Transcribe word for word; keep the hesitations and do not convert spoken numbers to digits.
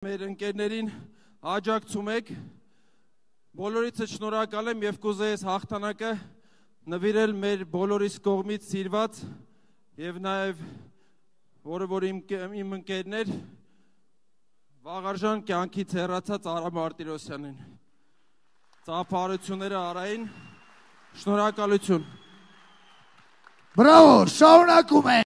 Մեր ընկերներին աջակցում եք, բոլորիցս շնորհակալ եմ և կուզեի հաղթանակը նվիրել մեր բոլորիս կողմից սիրված և նաև որը որ իմ, իմ ընկերներ վաղարժան կյանքից հեռացած Արա Մարտիրոսյանին, ծափարությունները Արային, շնորհակալություն։ Բրավո, շարունակում ենք։